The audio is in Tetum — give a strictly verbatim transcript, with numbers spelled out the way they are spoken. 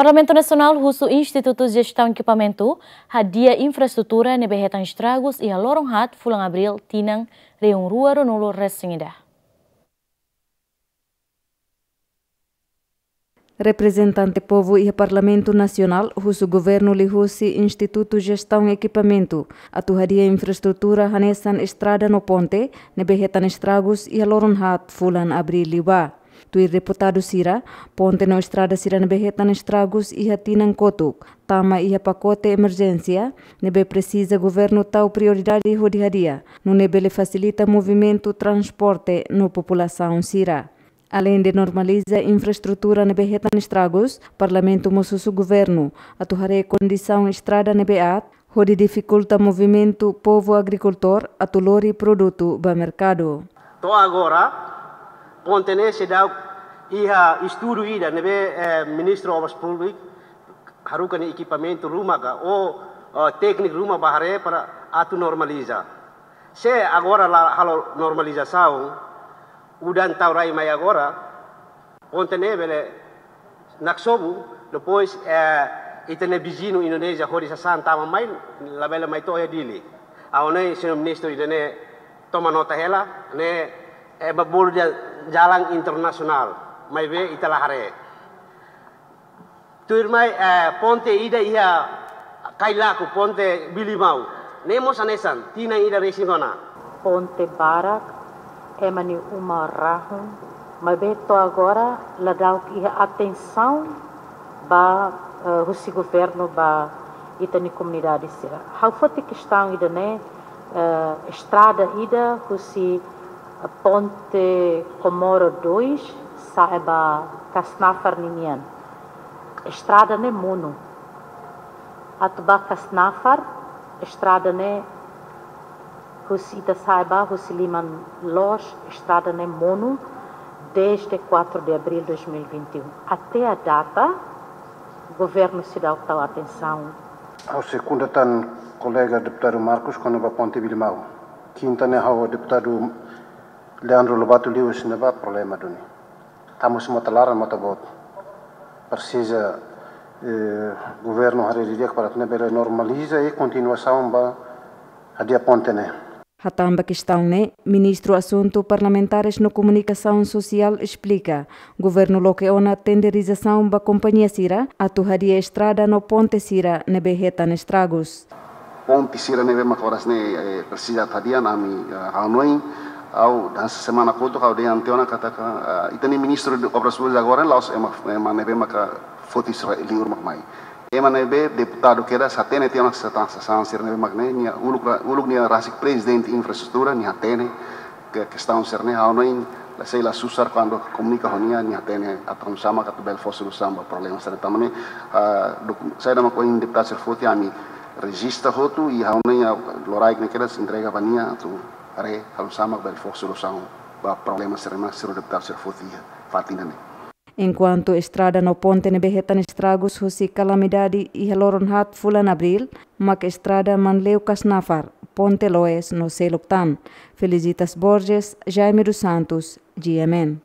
Parlamentu Nasionál husu Institutu Jestaun Ekipamentu hadi'a infraestrutura ne'ebé hetan estragus iha loron haat fulan Abríl tinan rihun rua ruanulu resin ida. Reprezentante povu iha Parlamentu Nasionál husu governu liuhusi Institutu Jestaun Ekipamentu atu hadi'a infraestrutura hanesan estrada no ponte ne'ebé hetan estragus iha loron haat fulan Abríl liubá. Tuir deputadu sira, ponte no estrada sira ne'ebé hetan estragus iha tinan kotuk tama iha pakote emerjénsia ne'ebé presiza governu tau prioridade hodi hadi'a, nune'e bele fasilita movimentu transporte no populasaun sira. Aleinde normaliza infraestrutura ne'ebé hetan estragus, Parlamentu mós husu governu atu haree kondisaun estrada ne'ebé aat, hodi difikulta movimentu povu agrikultór atu lori produtu ba merkadu. To'o agora, ponte ne'e seidauk iha estudu ida ne'ebé, eh, Ministru Obras Públikas haruka nia ekipamentu ruma ka, ou, eh, tékniku ruma bá haree para atu normaliza. Se agora la halo normalizasaun, udan tau rai mai agora, ponte ne'e bele naksobu, depois, eh, ita-nia viziñu Indonézia hodi sasán tama mai, labele mai to'o iha Dili. Ha'u hanoin, señór Ministru, ida-ne'e toma nota hela, ne'e ema bolu dehan jalan internasionál, maibé ita la haree. Tuirmai, eh, ponte ida iha Kailaku, ponte Bilimau. Ne'e mós hanesan, tinan ida resin ona. Ponte barak, ema nia uma rahun, maibé to'o agora la dadauk iha atensaun ba, eh, husi governu ba ita-nia komunidade sira. Ha'u foti kestaun ida-ne'e, eh, estrada ida husi, eh, ponte Comoro dois, sa'e ba Kasnafar ninian. Estrada ne'e monu. Atu ba Kasnafar, estrada ne'e husi ita sa'e ba, husi liman loos, estrada ne'e monu, desde quatro de abril de dois mil e vinte e um. Até a data, governu seidauk tau atensaun. Ha'u sekunda tan kolega deputadu Marcos kona-ba ponte Bilimau. Kinta ne'e ha'u ho deputadu Leandro Lobato liu husi ne'ebá problema duni. Tama husi mota laran, mota boot. Presiza, eh, governu haree didi'ak para atu nune'e bele normaliza i kontinuasaun ba hadi'a ponte ne'e. Hatán ba kestaun ne'e, Ministru Asuntu Parlamentares no Komunikasaun Sosiál esplika, governu loke ona tenderizasaun ba kompañia sira atu hadi'a estrada no ponte sira ne'ebé hetan estragus. Ponte sira ne'ebé maka oras ne'e, eh, presiza atu hadi'a, ami, eh, ha'u hanoin, ha'u hanesan semana kotuk ha'u dehan tiha ona katak, eh, ita-nia Ministru Obras Públikas agora la'ós ema, ema ne'ebé maka foti sira liur mak mai. Ema ne'ebé deputadu kedas hatene tiha ona sasán, sasán sira ne'ebé mak ne'e, nia uluk ra-, uluk nia rasik prezidente infraestrutura, nia hatene ke-, kestaun sira-ne'e, ha'u hanoin, la sei la susar kuandu komunika ho nia, nia hatene atu hanesan mak atu bele fó solusaun ba problema sira-ne'e. Tanba ne'e, ah, doku-, saida mak ohin deputadu sira foti, ami rejista hotu, i ha'u hanoin, ah, loraik ne'e kedas entrega ba nia atu haree hanesan mak bele fó solusaun ba problema sira-ne'e mak señór deputadu sira foti iha fatin ida-ne'e. Enkuantu estrada no ponte ne'ebé hetan estragus husi kalamidade iha loron haat fulan Abríl, mak estrada Manleu Kasnafar, ponte Loes no seluk tan. Felicitas Borges, Jaime dos Santos, G M N.